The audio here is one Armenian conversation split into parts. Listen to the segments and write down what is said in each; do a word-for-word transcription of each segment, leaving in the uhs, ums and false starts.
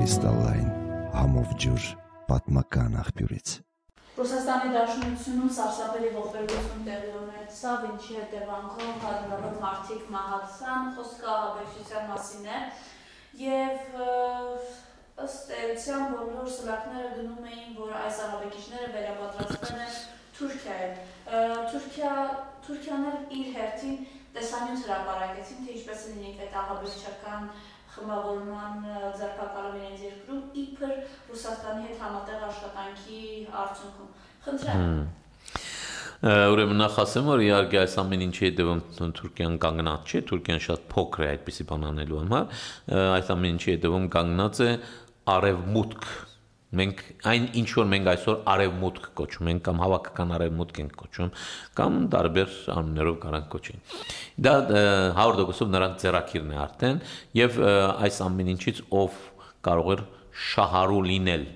Կրիստալային համով ջուր պատմական աղբյուրից։ Ռուսաստանի Դաշնությունում սարսափելի ողբերգություն տեղի ունեցավ, ինչի հետևանքով հարյուրավոր մարդիկ մահացան, խոսքը ահաբեկչության մասին է, եւ ըստ էության բոլոր սլաքները գնում էին, որ այս ահաբեկիչները վերապատրաստվել են Թուրքիայում։ Թուրքիա Թուրքիան իր հերթին տեսանյութ հրապարակեցին, թե ինչպես է լինի այդ ահաբեկչական խմբավորման ձեռքակալում իրենց երկրում, իբր Ռուսաստանի հետ համատեղ աշխատանքի արդյունքում։ Խնդրեմ։ Ուրեմն նախ ասեմ, որ իհարկե այս ամեն ինչի հետևում Թուրքիան կանգնած չէ, Թուրքիան շատ փոքր է այդպիսի բան անելու համար, այս ամեն ինչի հետևում կանգնած է արևմուտք։ Մենք այն ինչ որ մենք այսօր արևմուտք կոչում ենք կամ հավաքական արևմուտք ենք կոչում կամ տարբեր անուններով կարանք կոչենք։ Դա հարյուր տոկոսով նրանց ձեռակիրն է արդեն եւ այս ամեն ինչից ով կարող էր շահառու լինել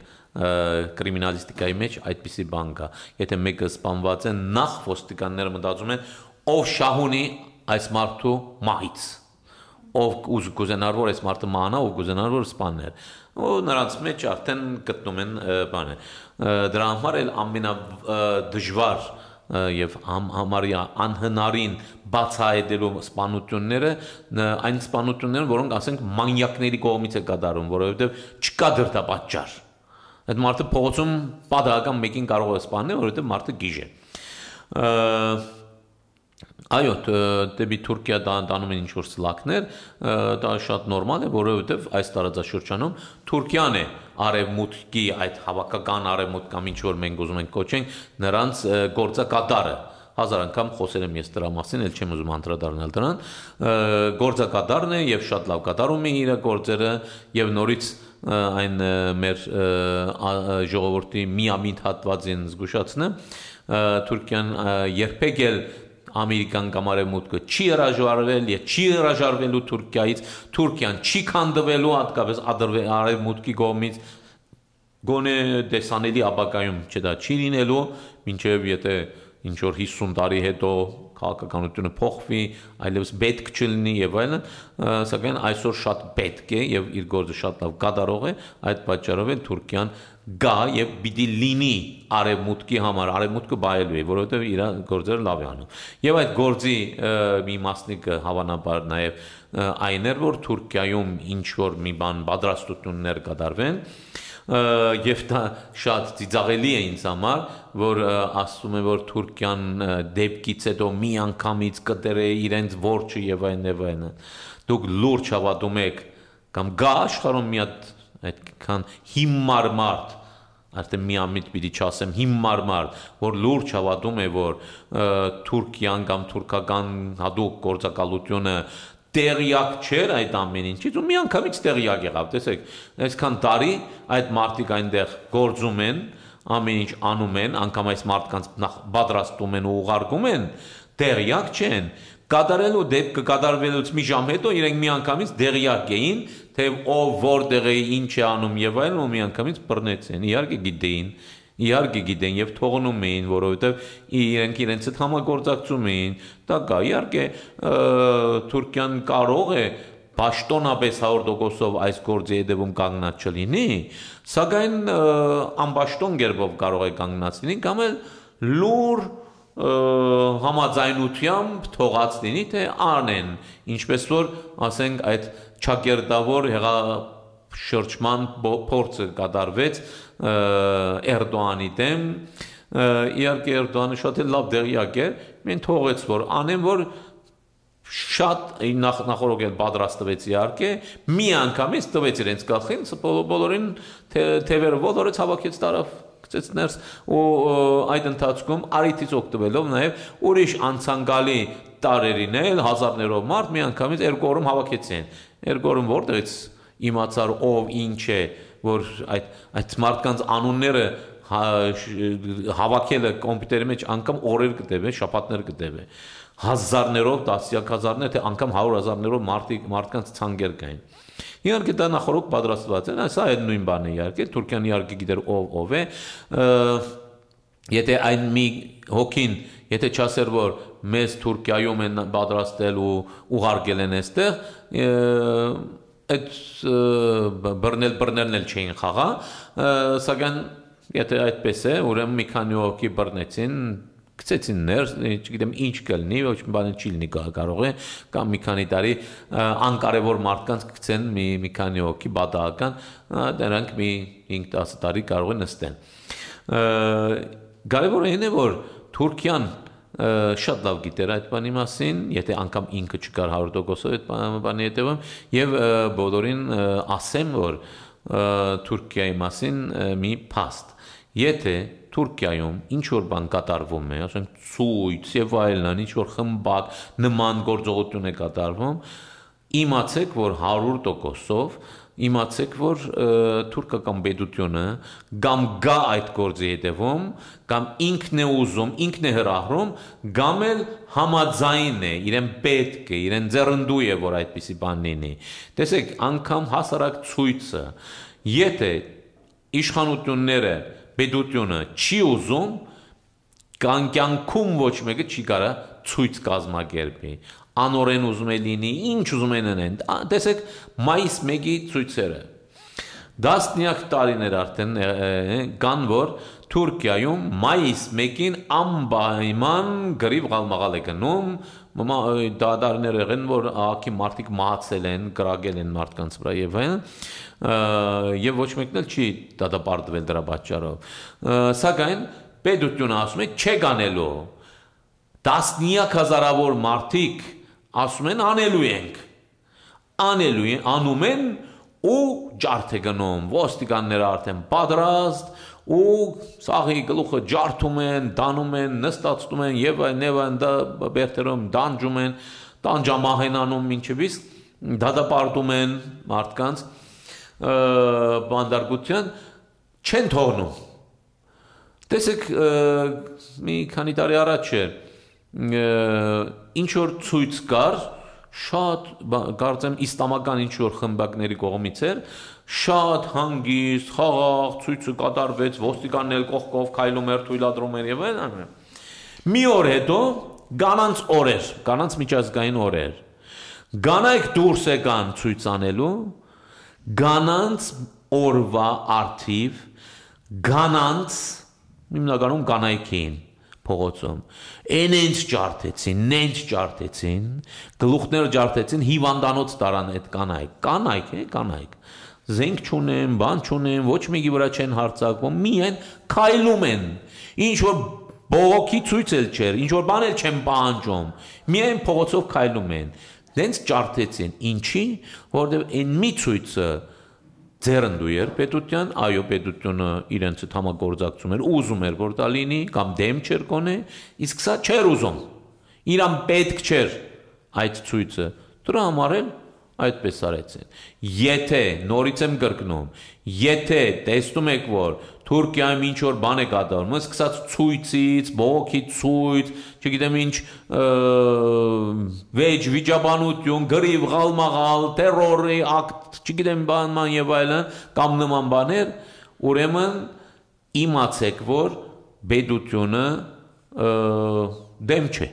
կրիմինալիստիկայի մեջ այդպիսի բան կա։ Եթե մեկը սպանված է, նախ ոստիկանները մտածում են ով շահ ունի այս մարդու մահից, ով կուզենար որ այս մարդը մանա, ով կուզենար որ սպաներ, ու նրանց մեջ արդեն գտնում են բանը։ Դրա համար էլ ամենադժվար եւ համարյա անհնարին բացահայտելու սպանությունները այն սպանությունները, որոնք ասենք մանյակների կողմից է կատարվում, որովհետեւ չկա դրդապատճառ։ Այդ մարդը փողոցում պատահական մեկին կարող է սպանել, որովհետեւ մարդը գիժ է։ Այո, դեպի Թուրքիա տանում են ինչ-որ սլաքներ, դա շատ նորմալ է, որովհետև այս տարածաշրջանում Թուրքիան է արևմուտքի այդ հավաքական արևմուտք կամ ինչ-որ մենք ուզում ենք կոչենք, նրանց գործակատարը, հազար անգամ խոսել եմ ես դրա մասին, էլ չեմ ուզում անդրադառնալ դրան, գործակատարն է եւ շատ լավ կատարում է իր գործերը եւ նորից այն մեր ժողովրդի միամիտ հատվածին զգուշացնեմ, Թուրքիան երբեք էլ Ամերիկան կամ արևմուտքը չի հրաժարվել եւ չի հրաժարվելու Թուրքիայից, Թուրքիան չի քանդվելու հատկապես արևմուտքի կողմից, գոնե տեսանելի ապագայում չէ դա չի լինելու, մինչեւ եթե ինչ որ հիսուն տարի հետո քաղաքականությունը փոխվի, այլևս պետք չլինի եւ այլն, սակայն այսօր շատ պետք է եւ իր գործը շատ լավ կատարող է, այդ պատճառով էլ Թուրքիան գա եւ պիտի լինի արևմուտքի համար, արևմուտքը բայելու է, որովհետեւ իր գործերը լավ է անում։ Եվ այդ գործի մի մասնիկը հավանաբար նաեւ այն էր, որ Թուրքիայում ինչ որ մի բան պատրաստություններ կատարվեն, եւ դա շատ ծիծաղելի է ինձ համար, որ ասում է որ Թուրքիան դեպքից հետո մի անգամից կտրե իրենց որջը եւ այն եւ այն։ Դուք լուրջ հավատում եք կամ գա աշխարհում մի հատ այդքան հիմար մարդ, արդեն միամիտ պիտի չասեմ հիմար մարդ, որ լուրջ հավատում է որ Թուրքիան կամ թուրքական հատուկ գործակալությունը տեղյակ չէր այդ ամեն ինչից ու մի անգամից տեղյակ եղավ, տեսեք, այսքան տարի այդ մարդիկ այնտեղ գործում են, ամեն ինչ անում են, անգամ այս մարդկանց պատրաստում են ու ուղարկում են, տեղյակ չեն, կատարելու դեպքը կատարվելուց մի ժամ հետո իրենք մի անգամից տեղյակ էին, թե ով որտեղ է, ինչ է անում եւ այլն, ու մի անգամից բռնեցին, իհարկե գիտեին, իհարկե գիտեն եւ թողնում էին, որովհետեւ իրենք իրենց հետ համագործակցում էին, դա կա, իհարկե Թուրքիան կարող է պաշտոնապես հարյուր տոկոսով այս գործի հետևում կանգնած չլինի, սակայն անպաշտոն կերպով կարող է կանգնած լինի, կամ էլ լուր համաձայնությամբ թողած լինի, թե անեն, ինչպես որ ասենք այդ ճակերտավոր շրջման փորձը կատարվեց Էրդողանի դեմ, իհարկե Էրդողանը շատ լավ տեղյակ էր, մեն թողեց որ անեն, որ շատ նախորդ էլ պատրաստվեց իհարկե, մի անգամից տվեց իրենց գլխին, բոլորին թևերը ոլորեց հավաքեց տարավ գցեց ներս ու այդ ընթացքում արիթից օգտվելով նաև ուրիշ անցանկալի տարերին էլ հազարներով մարդ մի անգամից երկու օրում հավաքեցին, երկու օրում որտեղից իմացար ով ինչ է, որ այդ այդ մարդկանց անունները հավաքելը կոմպյուտերի մեջ անգամ օրեր կտևե, շաբաթներ կտևե, հազարներով, տասնյակ հազարներ, թե անգամ հարյուր հազարներով մարդկանց ցանկեր կային։ Իհարկե դա նախորդ պատրաստված է, սա էլ նույն բանն է իհարկե, Թուրքիան իհարկե գիտեր ով ով է, եթե այն մի հոգին, եթե չասեր որ մեզ Թուրքիայում են պատրաստել ու ուղարկել են այստեղ, այդ բռնել բռներն էլ չէին խաղա, սակայն եթե այդպես է, ուրեմն մի քանի հոգի բռնեցին, գցեցին ներս, չգիտեմ ինչ կլինի, ոչ մի բան չի լինի կարող է, կամ մի քանի տարի անկարևոր մարդկանց գցեն մի մի քանի հոգի բադական, դրանք մի հինգ-տասը տարի կարող են նստեն։ Կարևորը այն է, որ Թուրքիան շատ լավ գիտեր այդ բանի մասին, եթե անգամ ինքը չկար հարյուր տոկոսով այդ բանի հետևում, եւ բոլորին ասեմ, որ Թուրքիայի մասին մի փաստ, եթե Թուրքիայում ինչ որ բան կատարվում է, ասենք ցույց եւ այլն, ինչ որ խմբակ նման գործողություն է կատարվում, իմացեք, որ հարյուր տոկոսով իմացեք, որ թուրքական պետությունը կամ գա այդ գործի հետևում, կամ ինքն է ուզում, ինքն է հրահրում, կամ էլ համաձայն է, իրեն պետք է, իրեն ձեռնդու է, որ այդպիսի բան լինի։ Տեսեք, անգամ հասարակ ցույցը, եթե իշխանությունները, պետությունը չի ուզում, կյանքում ոչ մեկը չի կարա ցույց կազմակերպի։ Անորեն ուզում է լինի, ինչ ուզում են անեն։ Տեսեք, մայիս մեկի ցույցերը։ Դասնյակ տարիներ արդեն կան, որ Թուրքիայում մայիս մեկին անպայման գրիվ ղալմաղալ է գնում, դարներ եղեն, որ ահագի մարդիկ մահացել են, կրակել են մարդկանց վրա եւ այլն, եւ ոչ մեկն էլ չի դատապարտվել դրա պատճառով։ Սակայն պետությունը ասում է չեք անելու։ Տասնյակ հազարավոր մարդիկ ասում են անելու ենք, անելու են, անում են ու ջարդ է գնում, ոստիկանները արդեն պատրաստ ու սաղի գլուխը ջարդում են, դանում են, նստացնում են եւ այլն եւ այլն, դա բերտերում դանջում են, տանջամահ են անում մինչեւ իսկ դատապարտում են մարդկանց բանդարգության չեն թողնում։ Տեսեք, մի քանի տարի առաջ է ինչ որ ցույց կար, շատ կարծեմ իսլամական ինչ որ խմբակների կողմից էր, շատ հանգիստ, խաղաղ ցույցը կատարվեց, ոստիկանն էլ կողքով քայլում էր, թույլատրում էր եւ այլն։ Մի օր հետո կանանց օրեր, կանանց միջազգային օրեր, կանայք դուրս եկան ցույց անելու, կանանց օրվա արդիվ, կանանց հիմնականում կանայքին փողոցում, այնց ջարդեցին, նենց ջարդեցին, գլուխներ ջարդեցին, հիվանդանոց տարան այդ կանայք, կանայք է, կանայք, զենք չունեն, բան չունեն, ոչ մեկի վրա չեն հարձակվում, միայն քայլում են, ինչ որ բողոքի ցույց էլ չէր, ինչ որ բան էլ չեն պահանջում, միայն փողոցով քայլում են, նենց ջարդեցին, ինչի, որովհետև այն մի ցույցը ձեռնդու էր պետության, այո պետությունը իրենց հետ համագործակցում էր, ուզում էր որ դա լինի, կամ դեմ չէր կոնե, իսկ սա չէր ուզում, իրան պետք չէր այդ ցույցը, դրա համար էլ այդպես արեցին։ Եթե նորից եմ կրկնում, եթե տեսնում եք, որ Թուրքիայում ինչ որ բան է կատարվում, սկսած ցույցից, բողոքի ցույց, չգիտեմ ինչ վեճ վիճաբանություն, գրիվ ղալմաղալ, տերորի ակտ, չգիտեմ բանման եւ այլն, կամ նման բաներ, ուրեմն իմացեք, որ պետությունը դեմ չէ,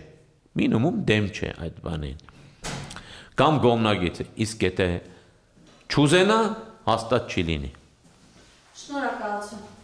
մինիմում դեմ չէ այդ բանին։ Կամ գոմնագիծ է, իսկ եթե չուզենա, հաստատ չի լինի։ Շնորհակալություն։